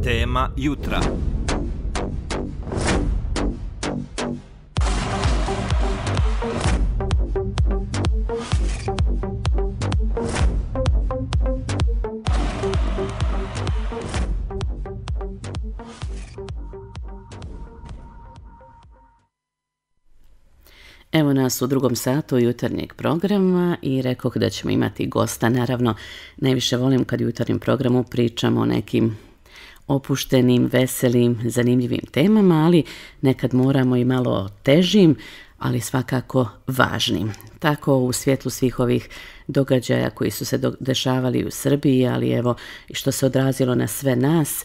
Tema jutra. Evo nas u drugom satu jutarnjeg programa i rekoh da ćemo imati gosta. Naravno, najviše volim kad u jutarnjem programu pričamo o nekim opuštenim, veselim, zanimljivim temama, ali nekad moramo i malo težim, ali svakako važnim. Tako u svjetlu svih ovih događaja koji su se dešavali u Srbiji, ali evo i što se odrazilo na sve nas.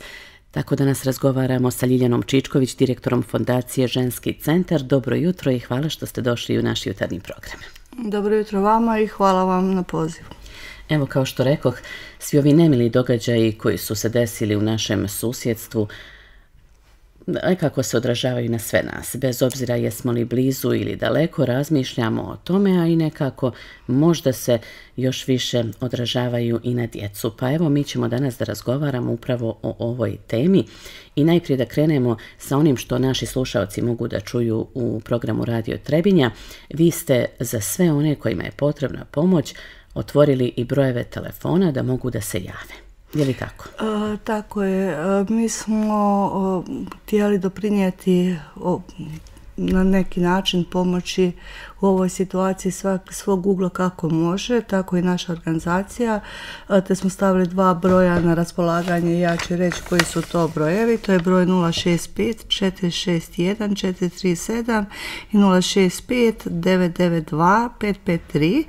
Tako da nas razgovaramo sa Ljiljanom Čičković, direktorom Fondacije Ženski centar. Dobro jutro i hvala što ste došli u naš jutarnji program. Dobro jutro vama i hvala vam na pozivu. Evo, kao što rekoh, svi ovi nemili događaji koji su se desili u našem susjedstvu kako se odražavaju na sve nas. Bez obzira jesmo li blizu ili daleko, razmišljamo o tome, a i nekako možda se još više odražavaju i na djecu. Pa evo, mi ćemo danas da razgovaramo upravo o ovoj temi i najprije da krenemo sa onim što naši slušalci mogu da čuju u programu Radio Trebinja. Vi ste za sve one kojima je potrebna pomoć otvorili i brojeve telefona da mogu da se jave. Je li tako? Tako je. Mi smo htjeli doprinijeti na neki način pomoći u ovoj situaciji svog ugla kako može, tako i naša organizacija, te smo stavili 2 broja na raspolaganje. Ja ću reći koji su to brojevi. To je broj 065 461 437 i 065 992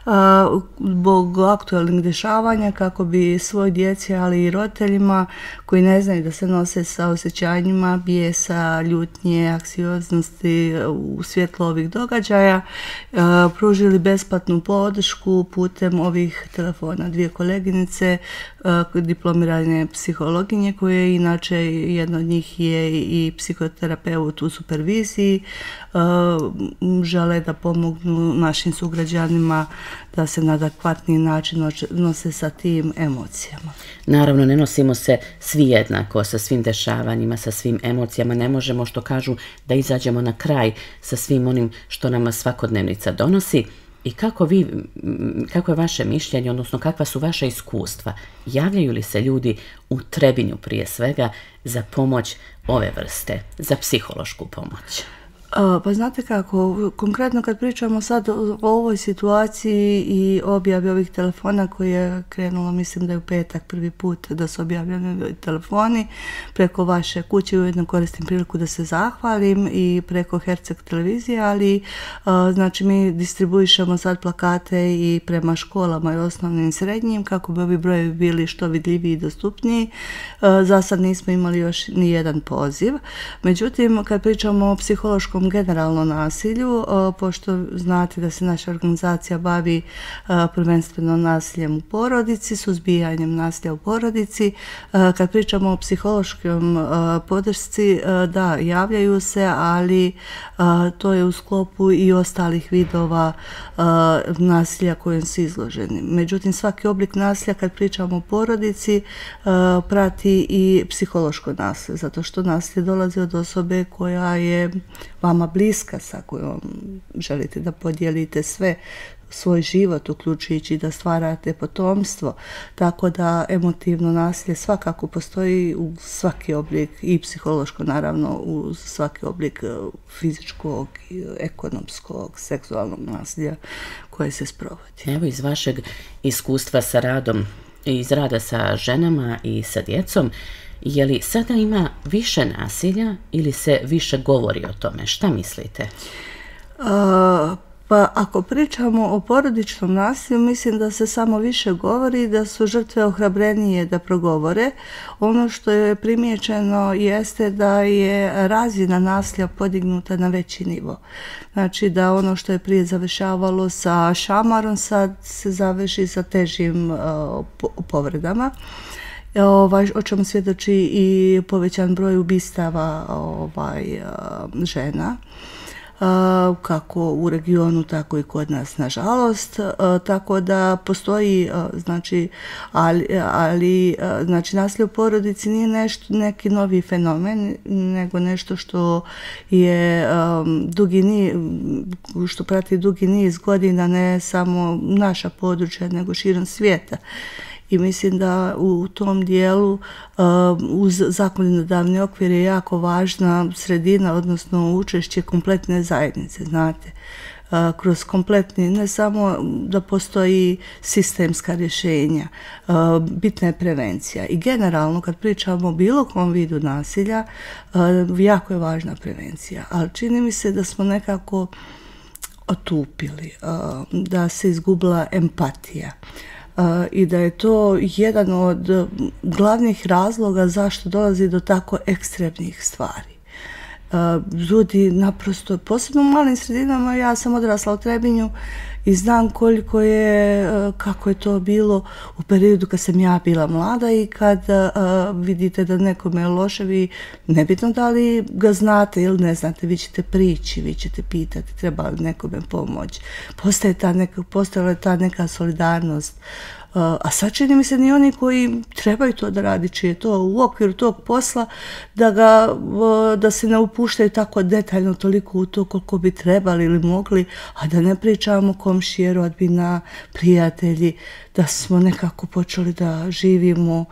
553 zbog aktualnih dešavanja kako bi svoj djeci, ali i roditeljima koji ne znaju da se nose sa osjećanjima bijesa, ljutnje, anksioznosti u svjetlu ovih događaja, pružili besplatnu podršku putem ovih telefona. 2 koleginice, diplomirane psihologinje, koje inače jedna od njih je i psihoterapeut u superviziji, žele da pomognu našim sugrađanima da se na adekvatni način nose sa tim emocijama. Naravno, ne nosimo se svi jednako sa svim dešavanjima, sa svim emocijama. Ne možemo, što kažu, da izađemo na kraj sa svim onim što nama svakodnevnica donosi. I kako je vaše mišljenje, odnosno kakva su vaša iskustva? Javljaju li se ljudi u Trebinju prije svega za pomoć ove vrste, za psihološku pomoć? Pa znate kako, konkretno kad pričamo sad o ovoj situaciji i objavi ovih telefona koji je krenulo, mislim da je u petak prvi put da su objavljeni telefoni preko vaše kuće, ujedno koristim priliku da se zahvalim i preko Herceg televizije, ali znači mi distribuišemo sad plakate i prema školama i osnovnim i srednjim kako bi ovi brojevi bili što vidljiviji i dostupniji. Za sad nismo imali još ni jedan poziv. Međutim, kad pričamo o psihološkom generalno nasilju, pošto znate da se naša organizacija bavi prvenstveno nasiljem u porodici, suzbijanjem nasilja u porodici. Kad pričamo o psihološkom podršci, da, javljaju se, ali to je u sklopu i ostalih vidova nasilja kojim su izloženi. Međutim, svaki oblik nasilja, kad pričamo o porodici, prati i psihološko nasilje, zato što nasilje dolazi od osobe koja je vama bliska, sa kojom želite da podijelite svoj život, uključujući da stvarate potomstvo. Tako da emotivno nasilje svakako postoji u svaki oblik, i psihološko naravno, u svaki oblik fizičkog, ekonomskog, seksualnog nasilja koje se sprovodi. Evo, iz vašeg iskustva sa radom, iz rada sa ženama i sa djecom, je li sada ima više nasilja ili se više govori o tome? Šta mislite? Pa ako pričamo o porodičnom nasilju, mislim da se samo više govori, da su žrtve ohrabrenije da progovore. Ono što je primijećeno jeste da je razina nasilja podignuta na veći nivo. Znači da ono što je prije završavalo sa šamarom, sad se završi sa težim povredama. O čemu svjedoči i povećan broj ubistava žena. kako u regionu, tako i kod nas, nažalost. Tako da postoji, znači, ali znači, nasilje u porodici nije neki novi fenomen, nego nešto što je što prati dugi niz godina, ne samo naša područja, nego širom svijeta. I mislim da u tom dijelu uz zakonodavni okvir je jako važna sredina, odnosno učešće kompletne zajednice, znate. Kroz kompletni, ne samo da postoji sistemska rješenja, bitna je prevencija. I generalno kad pričamo o bilo kom vidu nasilja, jako je važna prevencija. Ali čini mi se da smo nekako otupili, da se izgubila empatija. I da je to jedan od glavnih razloga zašto dolazi do tako ekstremnih stvari. Ljudi naprosto, posebno u malim sredinama, ja sam odrasla u Trebinju i znam kako je to bilo u periodu kad sam ja bila mlada i kad vidite da nekome je loše, vi nebitno da li ga znate ili ne znate, vi ćete prići, vi ćete pitati treba li nekome pomoći. Postojala je ta neka solidarnost. A sad čini mi se ni oni koji trebaju to da radi, čije je to u okviru tog posla, da se ne upuštaju tako detaljno toliko u to koliko bi trebali ili mogli, a da ne pričamo komšije, rodbina, prijatelji, da smo nekako počeli da živimo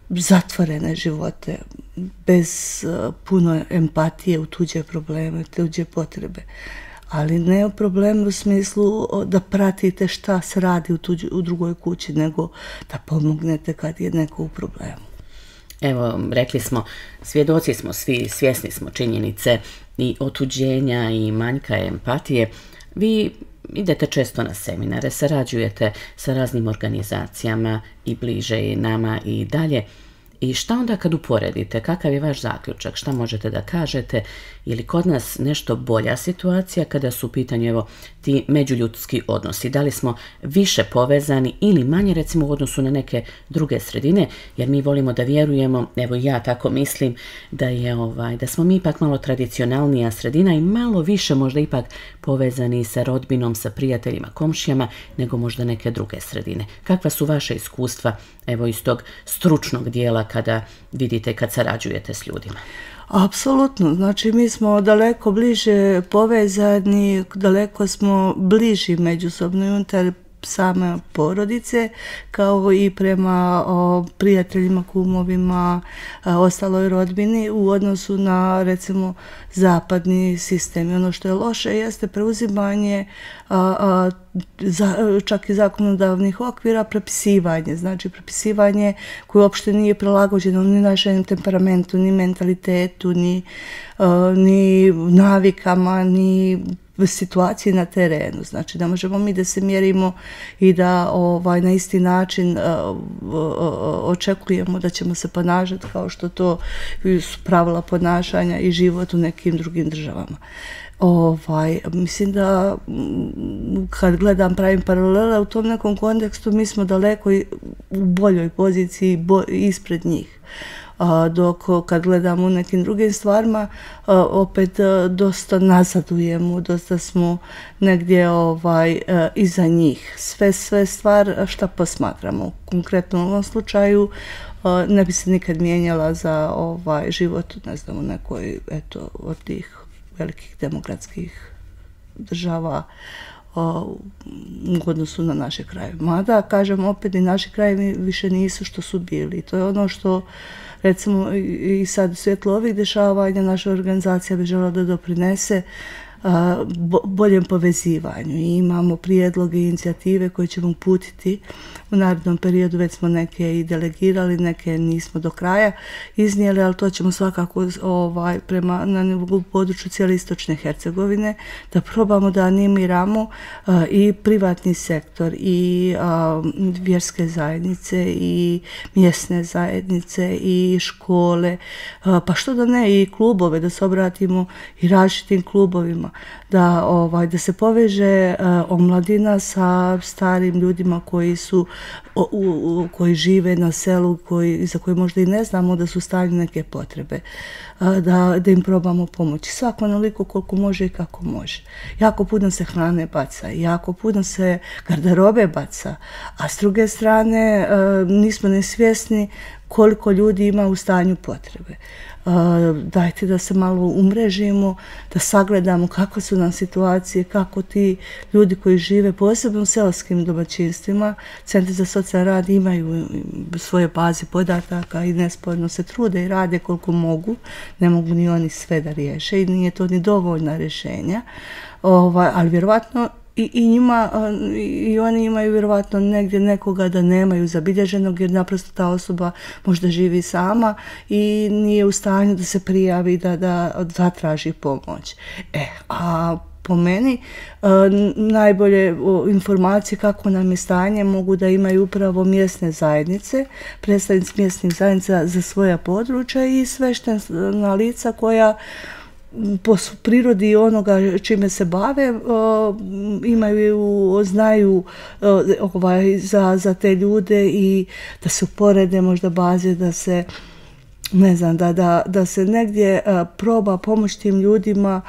zatvorene živote, bez puno empatije u tuđe probleme, tuđe potrebe. Ali ne o problemu u smislu da pratite šta se radi u drugoj kući, nego da pomognete kad je neko u problemu. Evo, rekli smo, svjedoci smo svi, svjesni smo činjenice i otuđenja i manjka empatije. Vi idete često na seminare, sarađujete sa raznim organizacijama i bliže i nama i dalje. I šta onda kad uporedite? Kakav je vaš zaključak? Šta možete da kažete? Je li kod nas nešto bolja situacija kada su u pitanju evo, ti međuljudski odnosi? Da li smo više povezani ili manje recimo u odnosu na neke druge sredine? Jer mi volimo da vjerujemo, evo ja tako mislim, da smo mi ipak malo tradicionalnija sredina i malo više možda ipak povezani sa rodbinom, sa prijateljima, komšijama, nego možda neke druge sredine. Kakva su vaše iskustva evo iz tog stručnog dijela kada vidite, kad sarađujete s ljudima? Apsolutno, znači mi smo daleko bliže povezani, daleko smo bliži međusobno i unutar same porodice, kao i prema prijateljima, kumovima, ostaloj rodbini u odnosu na, recimo, zapadni sistem. I ono što je loše jeste preuzimanje čak i zakonodavnih okvira, prepisivanje. Znači, prepisivanje koje uopšte nije prilagođeno ni našem temperamentu, ni mentalitetu, ni navikama, ni situaciji na terenu. Znači, da možemo mi da se mjerimo i da na isti način očekujemo da ćemo se ponašati kao što to su pravila ponašanja i život u nekim drugim državama. Mislim da kad gledam, pravim paralele u tom nekom kontekstu, mi smo daleko u boljoj poziciji ispred njih. Dok kad gledamo u nekim drugim stvarima, opet dosta nazadujemo, dosta smo negdje iza njih. Sve stvar šta posmatramo. Konkretno u ovom slučaju ne bi se nikad mijenjala za život, ne znam, u nekoj od tih velikih demokratskih država u odnosu na naše krajeve. Mada, kažem, opet i naši krajevi više nisu što su bili. To je ono što, recimo, i sad u svjetlu ovih dešavanja naša organizacija bi željela da doprinese boljem povezivanju. I imamo prijedloge i inicijative koje ćemo uputiti u narednom periodu, već smo neke i delegirali, neke nismo do kraja iznijeli, ali to ćemo svakako na području cijele istočne Hercegovine, da probamo da animiramo i privatni sektor i vjerske zajednice i mjesne zajednice i škole, pa što da ne i klubove, da se obratimo i različitim klubovima. da se poveže omladina sa starim ljudima koji žive na selu, za koje možda i ne znamo da su u stanju neke potrebe, da im probamo pomoći. Svako onoliko koliko može i kako može. Jako puno se hrane baca, jako puno se garderobe baca, a s druge strane nismo nesvjesni koliko ljudi ima u stanju potrebe. Dajte da se malo umrežimo, da sagledamo kakve su nam situacije, kako ti ljudi koji žive, posebno u seoskim domaćinstvima, centri za socijalni rad imaju svoje baze podataka i nesporno se trude i rade koliko mogu. Ne mogu ni oni sve da riješe i nije to ni dovoljna rješenja, ali vjerovatno i oni imaju vjerovatno negdje nekoga da nemaju zabilježenog, jer naprosto ta osoba možda živi sama i nije u stanju da se prijavi, da zatraži pomoć. A po meni najbolje informacije kako nam je stanje mogu da imaju upravo mjesne zajednice, predstavnici mjesnih zajednica za svoja područja i sveštena lica koja po prirodi onoga čime se bave znaju za te ljude i da se uporede možda baze, da se ne znam, da se negdje proba pomoći tim ljudima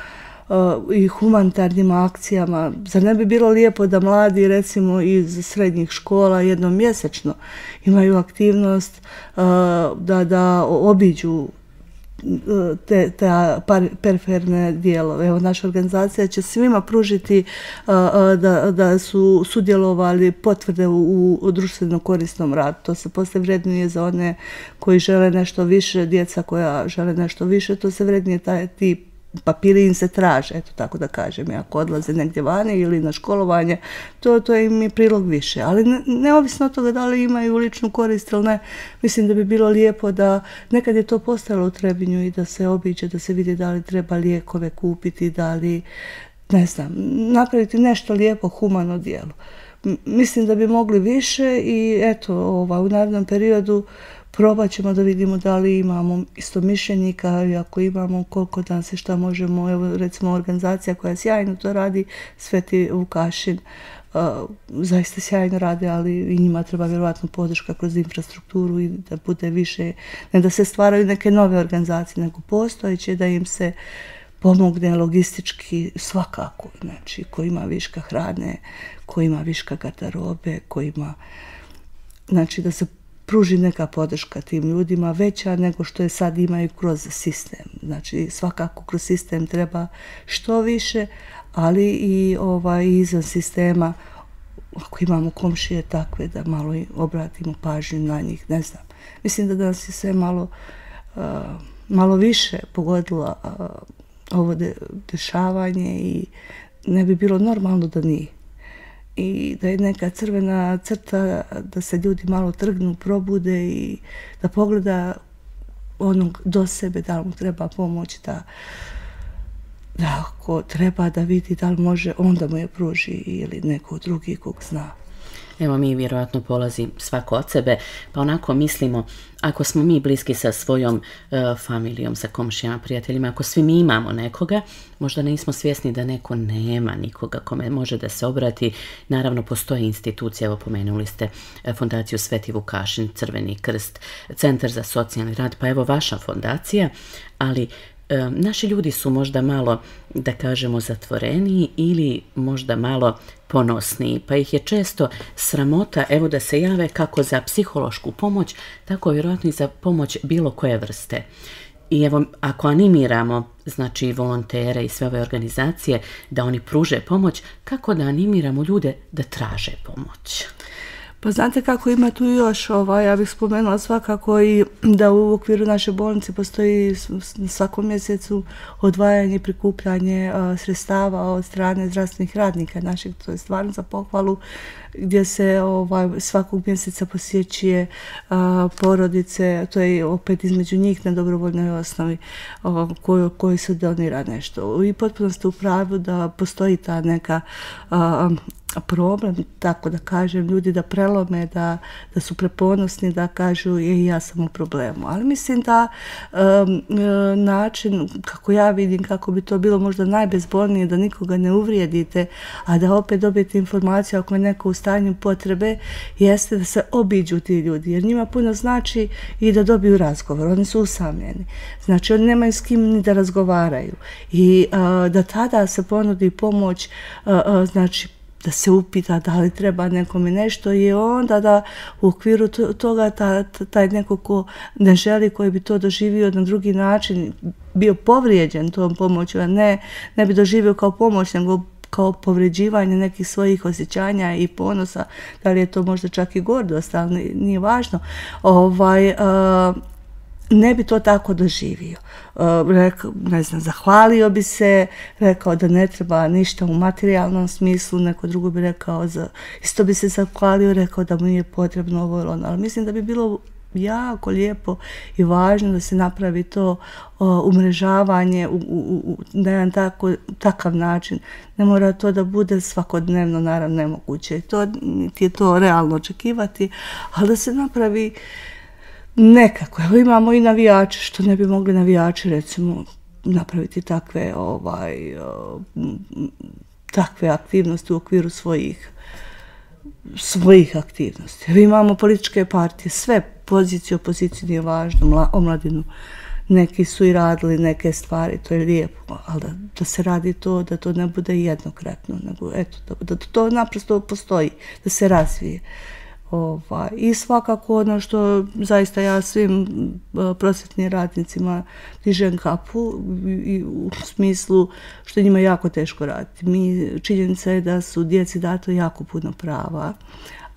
i humanitarnim akcijama. Zar ne bi bilo lijepo da mladi recimo iz srednjih škola jednom mjesečno imaju aktivnost da obiđu te periferne dijelove. Evo, naša organizacija će svima pružiti da su sudjelovali potvrde u društveno korisnom radu. To se poslije vrednuje za one koji žele nešto više, djeca koja žele nešto više, to se vrednuje ti papiri im se traže, eto tako da kažem, ako odlaze negdje vani ili na školovanje, to im je prilog više. Ali neovisno od toga da li imaju ličnu korist ili ne, mislim da bi bilo lijepo da nekad je to postojalo u Trebinju i da se obiđe, da se vidi da li treba lijekove kupiti, da li, ne znam, napraviti nešto lijepo, humano djelo. Mislim da bi mogli više i eto, u narednom periodu probat ćemo da vidimo da li imamo istomišljenika i ako imamo koliko dan se šta možemo. Evo recimo organizacija koja sjajno to radi, Sveti Vukašin, zaista sjajno rade, ali i njima treba vjerojatno podrška kroz infrastrukturu i da bude više, ne da se stvaraju neke nove organizacije, nego postojeće, da im se pomogne logistički svakako, znači ko ima viška hrane, ko ima viška garderobe, ko ima, znači da se pruži neka podrška tim ljudima veća nego što je sad imaju kroz sistem. Znači svakako kroz sistem treba što više, ali i izvan sistema, ako imamo komšije takve, da malo obratimo pažnju na njih, ne znam. Mislim da nas je sve malo više pogodilo ovo dešavanje i ne bi bilo normalno da nije. I da je neka crvena crta, da se ljudi malo trgnu, probude i da pogleda onog do sebe, da li mu treba pomoć, da ako treba da vidi da li može, onda mu je pruži ili neko drugi kog zna. Evo, mi vjerojatno polazi svako od sebe, pa onako mislimo, ako smo mi bliski sa svojom familijom, sa komšijama, prijateljima, ako svi mi imamo nekoga, možda nismo svjesni da neko nema nikoga kome može da se obrati. Naravno, postoje institucije, evo pomenuli ste fondaciju Sveti Vukašin, Crveni krst, Centar za socijalni rad, pa evo vaša fondacija, ali naši ljudi su možda malo, da kažemo, zatvoreniji ili možda malo ponosniji, pa ih je često sramota, evo, da se jave kako za psihološku pomoć, tako vjerojatno i za pomoć bilo koje vrste. I evo, ako animiramo, znači, volontere i sve ove organizacije da oni pruže pomoć, kako da animiramo ljude da traže pomoć? Pa znate kako, ima tu još, ja bih spomenula svakako i da u okviru naše bolnice postoji svakom mjesecu odvajanje i prikupljanje sredstava od strane zdravstvenih radnika naših, to je stvarno za pohvalu, gdje se svakog mjeseca posjećuje porodice, to je opet između njih na dobrovoljnoj osnovi koji se donira nešto. I potpuno ste u pravu da postoji ta neka problem, tako da kažem, ljudi da prelome, da su preponosni, da kažu ja sam u problemu. Ali mislim da način, kako ja vidim, kako bi to bilo možda najbezbolnije, da nikoga ne uvrijedite, a da opet dobijete informaciju ako je neko u stanju potrebe, jeste da se obiđu ti ljudi, jer njima puno znači i da dobiju razgovor. Oni su usamljeni. Znači, oni nemaju s kim ni da razgovaraju. I da tada se ponudi pomoć, znači, da se upita da li treba nekome nešto i onda da u okviru toga taj neko ko ne želi, koji bi to doživio na drugi način, bio povrijeđen tom pomoću, a ne bi doživio kao pomoć, nego kao povređivanje nekih svojih osjećanja i ponosa, da li je to možda čak i gordost, ali nije važno, ne bi to tako doživio. Ne znam, zahvalio bi se, rekao da ne treba ništa u materijalnom smislu, neko drugo bi rekao, isto bi se zahvalio, rekao da mu nije potrebno ovo ili ono, ali mislim da bi bilo jako lijepo i važno da se napravi to umrežavanje na jedan takav način. Ne mora to da bude svakodnevno, naravno nemoguće. Niti je to realno očekivati, ali da se napravi nekako. Evo imamo i navijače, što ne bi mogli navijači recimo napraviti takve aktivnosti u okviru svojih aktivnosti. Evo imamo političke partije, sve pozicije, opozicije nije važno, omladinu. Neki su i radili neke stvari, to je lijepo, ali da se radi to, da to ne bude jednokratno, nego eto, da to naprosto postoji, da se razvije. I svakako ono što zaista ja svim prosvjetnim radnicima dižem kapu u smislu što je njima jako teško raditi. Činjenica je da su djeci dato jako puno prava,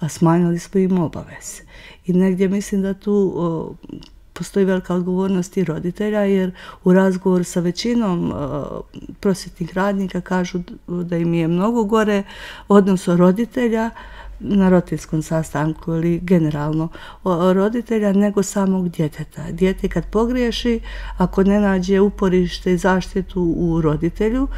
a smanjili smo im obaveze. I negdje mislim da tu postoji velika odgovornost i roditelja, jer u razgovoru sa većinom prosvjetnih radnika kažu da im je mnogo gore odnos roditelja na roditeljskom sastanku ili generalno roditelja nego samog djeteta. Dijete kad pogriješi, ako ne nađe uporište i zaštitu u roditelju,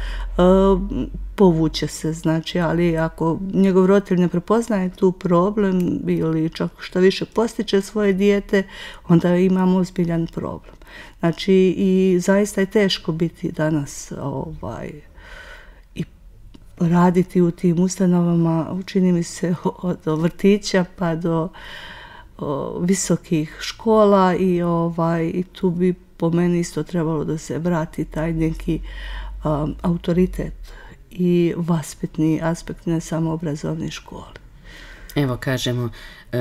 povuče se, znači, ali ako njegov roditelj ne prepoznaje tu problem ili čak što više postiče svoje dijete, onda imamo ozbiljan problem. Znači, i zaista je teško biti danas i raditi u tim ustanovama, čini mi se od vrtića pa do visokih škola i tu bi po meni isto trebalo da se vrati taj neki autoritet i vaspitni aspekt, ne samo obrazovne škole. Evo kažemo,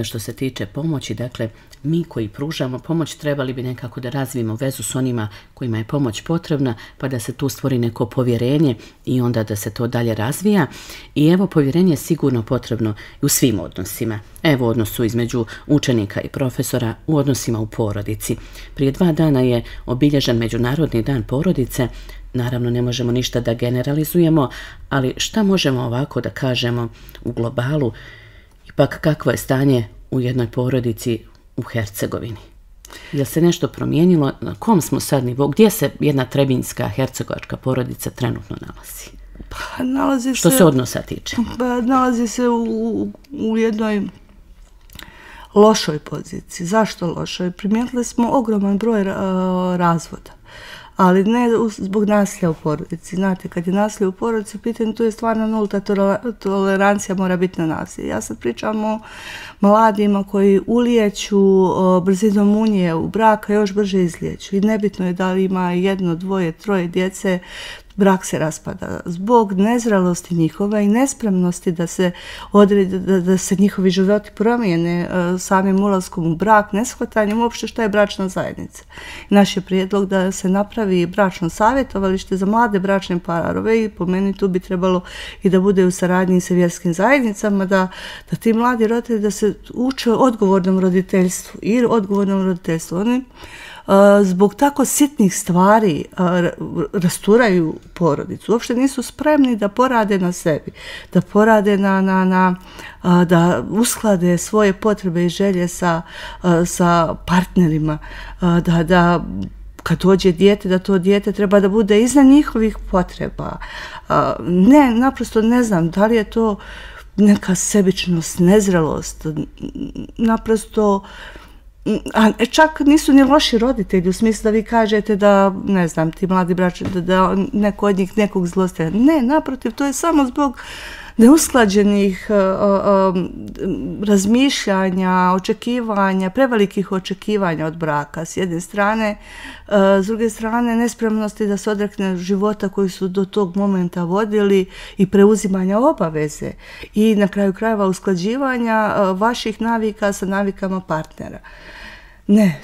što se tiče pomoći, dakle, mi koji pružamo pomoć trebali bi nekako da razvijemo vezu s onima kojima je pomoć potrebna, pa da se tu stvori neko povjerenje i onda da se to dalje razvija. I evo, povjerenje je sigurno potrebno i u svim odnosima. Evo, u odnosu između učenika i profesora, u odnosima u porodici. Prije 2 dana je obilježen Međunarodni dan porodice. Naravno, ne možemo ništa da generalizujemo, ali šta možemo ovako da kažemo u globalu? Ipak, kakvo je stanje u jednoj porodici u Hercegovini? Je se nešto promijenilo? Na kom smo sad nivou? Gdje se jedna trebinjska hercegovačka porodica trenutno nalazi? Što se odnosa tiče? Nalazi se u jednoj lošoj poziciji. Zašto lošoj? Primijetili smo ogroman broj razvoda. Ali ne zbog nasilja u porodici. Znate, kad je nasilje u porodici u pitanju, tu je stvarno nulta tolerancija mora biti na nasilje. Ja sad pričam o mladima koji ulijeću brzinom munje u braka, još brže izlijeću. I nebitno je da li ima 1, 2, 3 djece, brak se raspada zbog nezrelosti njihove i nespremnosti da se da se njihovi životi promijene samim ulaskom u brak, neshvatanjem uopšte šta je bračna zajednica. Naš je prijedlog da se napravi bračno savjetovalište za mlade bračne parove i po meni tu bi trebalo i da bude u saradnji sa vjerskim zajednicama, da ti mladi roditelji da se uče odgovornom roditeljstvu i odgovornom roditeljstvu. Oni zbog tako sitnih stvari rasturaju porodicu. Uopšte nisu spremni da porade na sebi, da porade da usklade svoje potrebe i želje sa partnerima, da kad dođe dijete, da to dijete treba da bude iznad njihovih potreba. Ne, naprosto ne znam da li je to neka sebičnost, nezrelost, naprosto, a čak nisu ni loši roditelji, u smislu da vi kažete da, ne znam, ti mladi braće, da neko od njih nekog zlostavlja. Ne, naprotiv, to je samo zbog neusklađenih razmišljanja, očekivanja, prevelikih očekivanja od braka s jedne strane, s druge strane nespremnosti da se odrekne života koji su do tog momenta vodili i preuzimanja obaveze i na kraju krajeva usklađivanja vaših navika sa navikama partnera. Ne,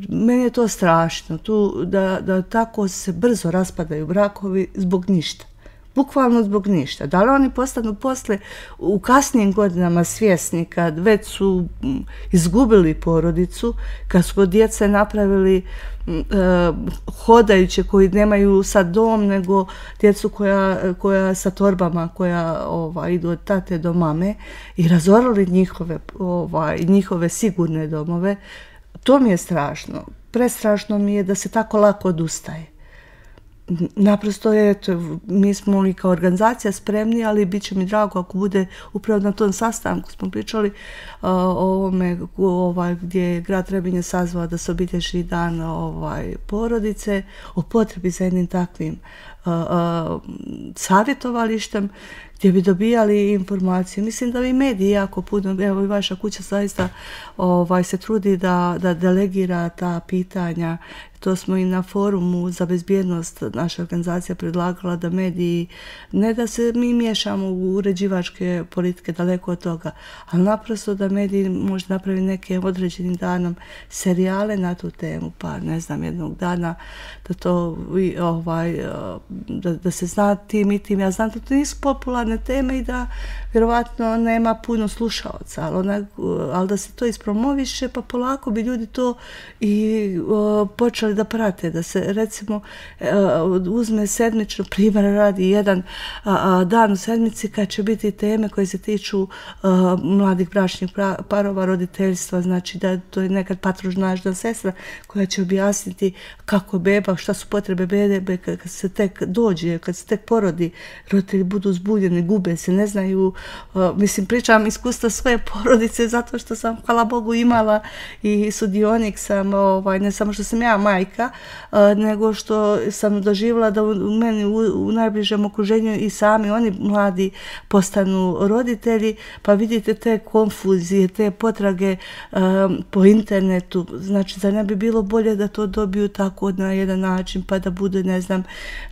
meni je to strašno, da tako se brzo raspadaju brakovi zbog ništa. Bukvalno zbog ništa. Da li oni postanu posle u kasnijim godinama svjesni kad već su izgubili porodicu, kad su djece napravili hodajuće koji nemaju sad dom, nego djecu koja sa torbama, koja idu od tate do mame i razorali njihove sigurne domove. To mi je strašno. Prestrašno mi je da se tako lako odustaje. Naprosto mi smo i kao organizacija spremni, ali bit će mi drago ako bude upravo na tom sastanku smo pričali o ovome gdje je grad Trebinje sazvao da se obilježi dan porodice, o potrebi za jednim takvim savjetovalištem gdje bi dobijali informacije. Mislim da i mediji jako puno, evo i vaša kuća zaista se trudi da delegira ta pitanja. To smo i na forumu za bezbjednost naša organizacija predlagala da mediji, ne da se mi miješamo u uređivačke politike, daleko od toga, ali naprosto da mediji možda napravi neke određenim danom serijale na tu temu, pa ne znam, jednog dana da to da se zna tim i tim. Ja znam da to nisu popularne teme i da vjerovatno nema puno slušaoca, ali da se to ispromoviše, pa polako bi ljudi to i počeli da prate, da se recimo uzme sedmično, primjer radi jedan dan u sedmici kad će biti teme koje se tiču mladih bračnih parova, roditeljstva, znači da to je nekad patronažna sestra koja će objasniti kako beba, šta su potrebe bebe kad se tek dođe, kad se tek porodi, roditelji budu zbunjeni, gube se, ne znaju, mislim pričam iskustva svoje porodice zato što sam, hvala Bogu, imala i sudionik sam, ne samo što sam ja majka, nego što sam doživjela da u meni u najbližem okruženju i sami oni mladi postanu roditelji, pa vidite te konfuzije, te potrage po internetu, znači da ne bi bilo bolje da to dobiju tako na jedan način, pa da bude, ne znam,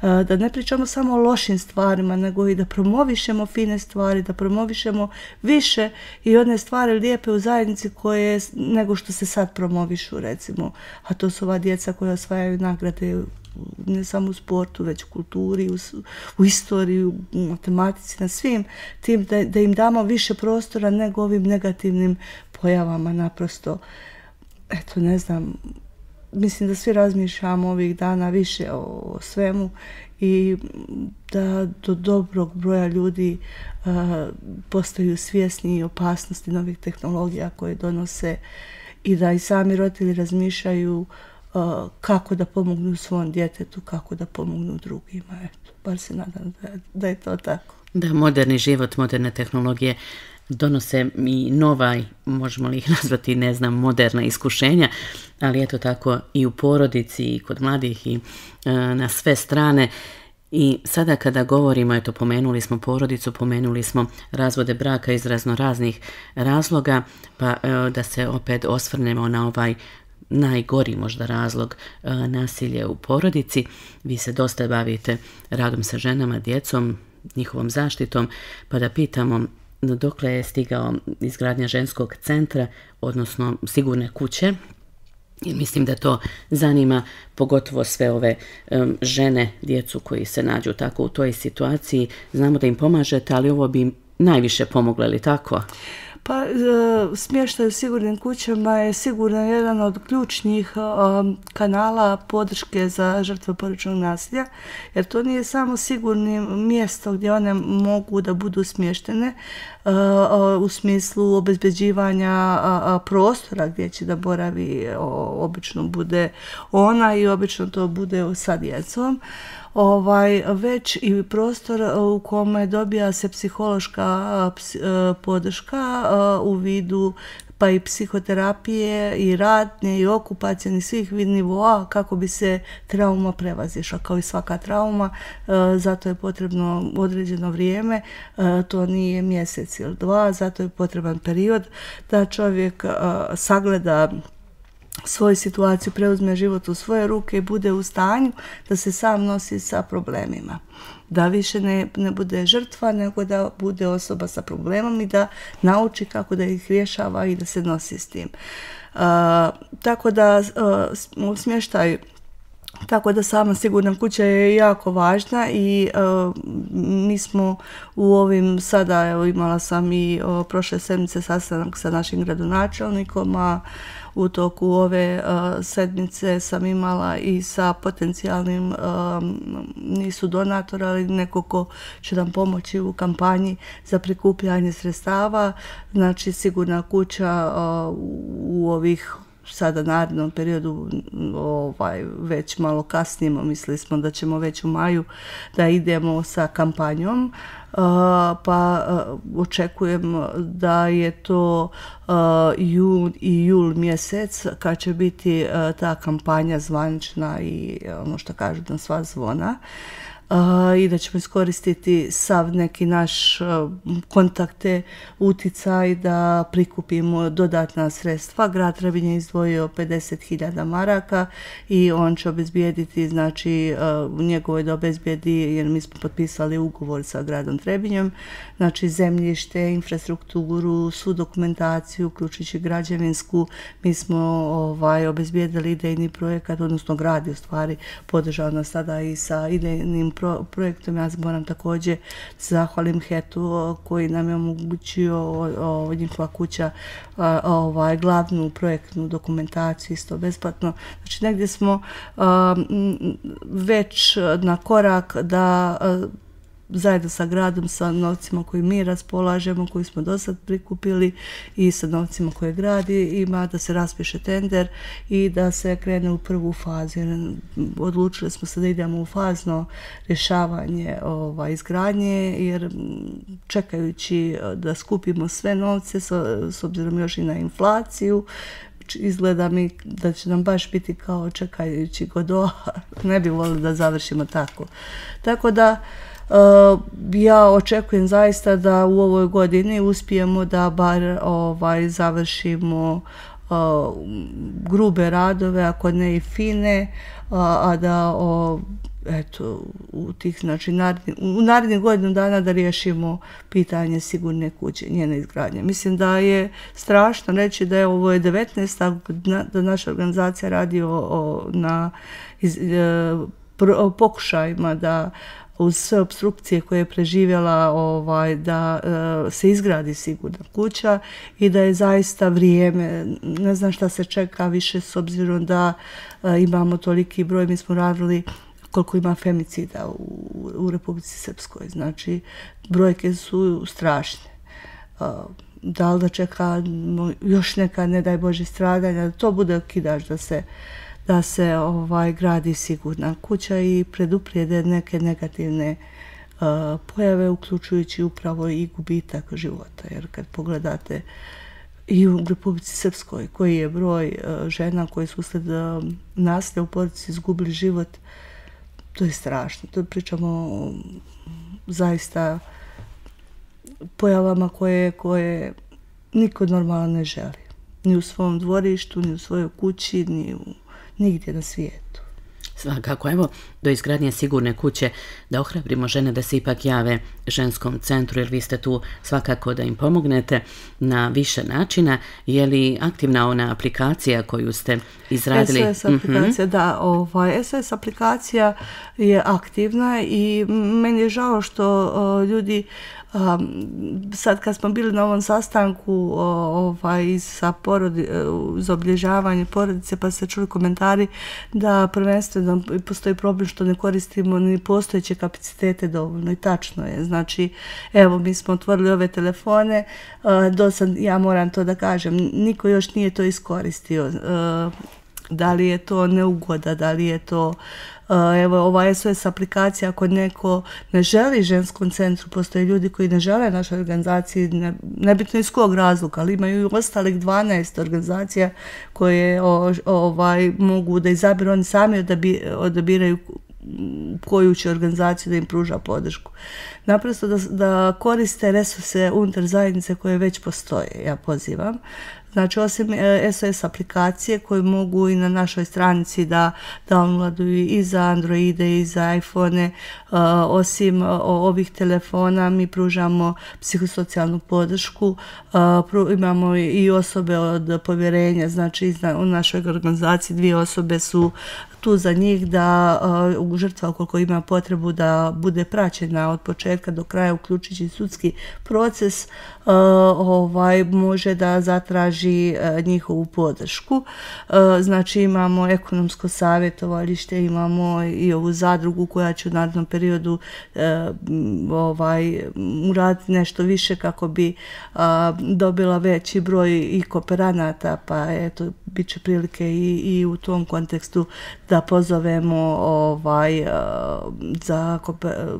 da ne pričamo samo o lošim stvarima, nego i da promovišemo fine stvari, da promovišemo više i one stvari lijepe u zajednici koje nego što se sad promovišu, recimo, a to su ova djeca koja osvajaju nagrade ne samo u sportu, već u kulturi, u istoriji, u matematici, na svim tim, da im damo više prostora nego ovim negativnim pojavama, naprosto, eto, ne znam, mislim da svi razmišljamo ovih dana više o svemu i da do dobrog broja ljudi postaju svjesni opasnosti novih tehnologija koje donose i da i sami roditelji razmišljaju kako da pomognu svom djetetu, kako da pomognu drugima. Eto, bar se nadam da je to tako. Da, moderni život, moderne tehnologije donose i nova, možemo li ih nazvati, ne znam, moderna iskušenja, ali eto tako i u porodici i kod mladih i na sve strane. I sada kada govorimo, eto, pomenuli smo porodicu, pomenuli smo razvode braka iz raznih razloga, pa da se opet osvrnemo na ovaj najgori možda razlog, nasilje u porodici. Vi se dosta bavite radom sa ženama, djecom, njihovom zaštitom, pa da pitamo dokle je stigao izgradnja ženskog centra, odnosno sigurne kuće. I mislim da to zanima pogotovo sve ove žene, djecu koji se nađu tako u toj situaciji. Znamo da im pomažete, ali ovo bi im najviše pomoglo, ili tako? Pa smještaj u sigurnim kućama je sigurno jedan od ključnih kanala podrške za žrtve porodičnog nasilja, jer to nije samo sigurno mjesto gdje one mogu da budu smještene u smislu obezbeđivanja prostora gdje će da boravi, obično bude ona i obično to bude sa djecom. već i prostor u kome dobija se psihološka podrška u vidu pa i psihoterapije i radne i okupacijne svih nivoa kako bi se trauma prevazišla. Kao i svaka trauma, zato je potrebno određeno vrijeme, to nije mjesec ili dva, zato je potreban period da čovjek sagleda svoju situaciju, preuzme život u svoje ruke i bude u stanju da se sam nosi sa problemima. Da više ne bude žrtva, nego da bude osoba sa problemom i da nauči kako da ih rješava i da se nosi s tim. Tako da smještaj, tako da sama sigurna kuća je jako važna i mi smo u ovim sada, evo imala sam i prošle sedmice sastanak sa našim gradonačelnikom, a u toku ove sedmice sam imala i sa potencijalnim, nisu donatora, ali neko ko će nam pomoći u kampanji za prikupljanje sredstava. Znači sigurna kuća u ovih sada narednom periodu već malo kasnimo, mislili smo da ćemo već u maju da idemo sa kampanjom, pa očekujem da je to jun i jul mjesec kad će biti ta kampanja zvanična i ono što kažu na sva zvona. I da ćemo iskoristiti sav neki naš kontakte, uticaj da prikupimo dodatna sredstva. Grad Trebinje je izdvojio 50.000 maraka i on će obezbijediti, znači njegovo je da obezbijedi, jer mi smo potpisali ugovor sa gradom Trebinjem, znači zemljište, infrastrukturu, svu dokumentaciju, uključujući građevinsku. Mi smo obezbijedili idejni projekat, odnosno grad je u stvari podržao nas tada i sa idejnim projektom. Ja moram također zahvalim HET-u koji nam je omogućio njihova kuća glavnu projektnu dokumentaciju isto besplatno. Znači negdje smo već na korak da zajedno sa gradom, sa novcima koji mi raspolažemo, koji smo do sad prikupili i sa novcima koje grad ima, da se raspiše tender i da se krene u prvu fazu. Odlučili smo se da idemo u fazno rješavanje izgradnje, jer čekajući da skupimo sve novce, s obzirom još i na inflaciju, izgleda mi da će nam baš biti kao čekajući Godot, ne bi volili da završimo tako. Tako da ja očekujem zaista da u ovoj godini uspijemo da bar završimo grube radove, ako ne i fine, a da eto, u tih, znači, u narednih godinu dana da riješimo pitanje sigurne kuće, njene izgradnje. Mislim da je strašno reći da je ovo 19. da naša organizacija radi na pokušajima da uz sve opstrukcije koje je preživjela da se izgradi sigurna kuća i da je zaista vrijeme, ne znam šta se čeka više s obzirom da imamo toliki broj, mi smo radili koliko ima femicida u Republici Srpskoj, znači brojke su strašne. Da li da čeka još neka, ne daj Bože, stradanja, da to bude okidač da se gradi sigurna kuća i preduprijede neke negativne pojave, uključujući upravo i gubitak života. Jer kad pogledate i u Republici Srpskoj koji je broj žena koje su usled nasilja u porodici izgubili život, to je strašno. To pričamo zaista pojavama koje niko normalno ne želi. Ni u svom dvorištu, ni u svojoj kući, nigdje na svijetu. Svakako, evo, do izgradnje sigurne kuće da ohrabrimo žene da se ipak jave ženskom centru, jer vi ste tu svakako da im pomognete na više načina. Je li aktivna ona aplikacija koju ste izradili? SOS aplikacija, da. SOS aplikacija je aktivna i meni je žao što ljudi sad kad smo bili na ovom sastanku sa za obilježavanje porodice, pa se čuli komentari da prvenstveno postoji problem što ne koristimo ni postojeće kapacitete dovoljno, i tačno je. Znači, evo, mi smo otvorili ove telefone, dosad, ja moram to da kažem, niko još nije to iskoristio. Da li je to neugoda, da li je to Evo, ova SOS aplikacija, ako neko ne želi ženskom centru, postoje ljudi koji ne žele našoj organizaciji, nebitno iz kog razloga, ali imaju i ostalih 12 organizacija koje mogu da izabiru, oni sami odabiraju koju će organizaciju da im pruža podršku. Naprosto da koriste resurse unutar zajednice koje već postoje, ja pozivam. Znači, osim SOS aplikacije koje mogu i na našoj stranici da downloaduju i za Androide i za iPhone, osim ovih telefona mi pružamo psihosocijalnu podršku, imamo i osobe od povjerenja, znači u našoj organizaciji 2 osobe su tu za njih da žrtva ukoliko ima potrebu da bude praćena od početka do kraja, uključujući sudski proces, može da zatraži njihovu podršku. Znači imamo ekonomsko savjetovalište, imamo i ovu zadrugu koja će u narednom periodu uraditi nešto više kako bi dobila veći broj i kooperanata, pa eto, bit će prilike i u tom kontekstu da pozovemo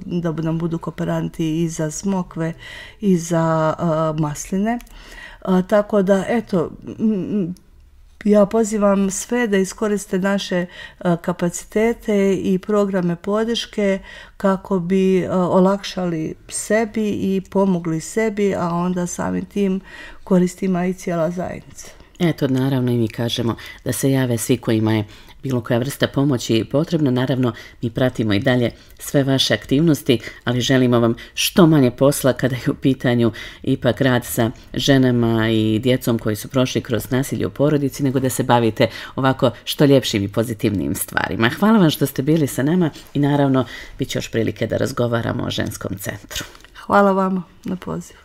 da nam budu kooperanti i za smokve i za masline. Tako da, eto, ja pozivam sve da iskoriste naše kapacitete i programe podrške kako bi olakšali sebi i pomogli sebi, a onda samim tim koristima i cijela zajednica. Eto, naravno i mi kažemo da se jave svi kojima je bilo koja vrsta pomoći potrebna. Naravno, mi pratimo i dalje sve vaše aktivnosti, ali želimo vam što manje posla kada je u pitanju ipak rad sa ženama i djecom koji su prošli kroz nasilje u porodici, nego da se bavite ovako što ljepšim i pozitivnim stvarima. Hvala vam što ste bili sa nama i naravno bit će još prilike da razgovaramo o ženskom centru. Hvala vama na pozivu.